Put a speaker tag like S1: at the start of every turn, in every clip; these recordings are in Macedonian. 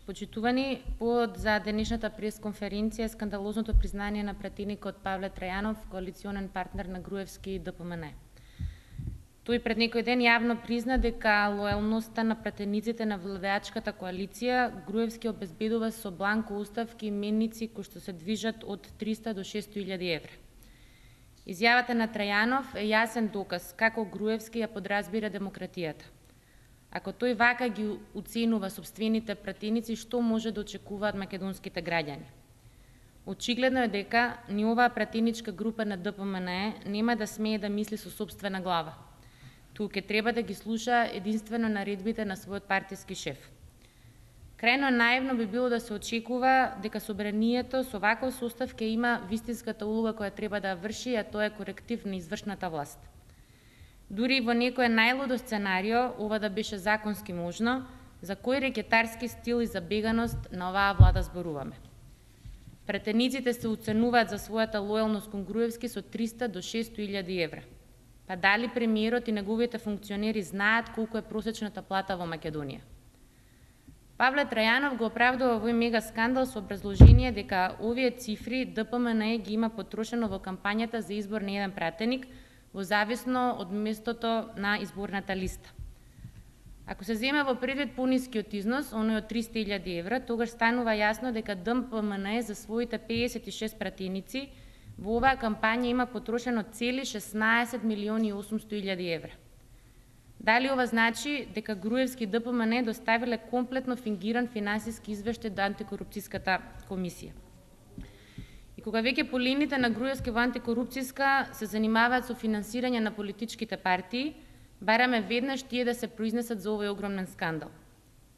S1: Почитувани, повод за денешната пресконференција е скандалозното признание на пратеникот Павле Трајанов, коалиционен партнер на Груевски и ДПМН. Тој пред некој ден јавно призна дека лојалноста на пратениците на владеачката коалиција Груевски обезбедува со бланко уставки и менници кои што се движат од 300 до 600.000 евра. Изјавата на Трајанов е јасен доказ како Груевски ја подразбира демократијата. Ако тој вака ги уценува сопствените пратеници, што може да очекуваат македонските граѓани? Очигледно е дека ни оваа пратеничка група на ДПМН нема да смее да мисли со сопствена глава. Туку ќе треба да ги слуша единствено наредбите на својот партиски шеф. Крајно наивно би било да се очекува дека собранието со ваков состав ќе има вистинската улога која треба да врши, а тоа е коректив на извршната власт. Дури во некој најлудо сценарио, ова да беше законски можно, за кој рекетарски стил и забеганост на оваа влада зборуваме. Пратениците се уценуваат за својата лојалност кон Груевски со 300 до 600.000 евра. Па дали премиерот и неговите функционери знаат колку е просечната плата во Македонија? Павле Трајанов го оправдува овој мега скандал со образложение дека овие цифри ДПМН ги има потрошено во кампањата за избор на еден пратеник, во зависно од местото на изборната листа. Ако се земе во предвид понискиот износ, оној од 300.000 евра, тогаш станува јасно дека ДПМН за своите 56 пратеници во оваа кампања има потрошено цели 16.800.000 евра. Дали ова значи дека Груевски и ДПМН доставиле комплетно фингиран финансиски извештај до антикорупцијската комисија? И кога веќе полините на Груевски во антикорупцијска се занимаваат со финансирање на политичките партии, бараме веднаш тие да се произнесат за овој огромен скандал.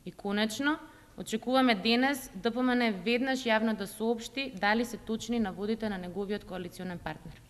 S1: И конечно, очекуваме денес ДПМН веднаш јавно да соопшти дали се точни наводите на неговиот коалиционен партнер.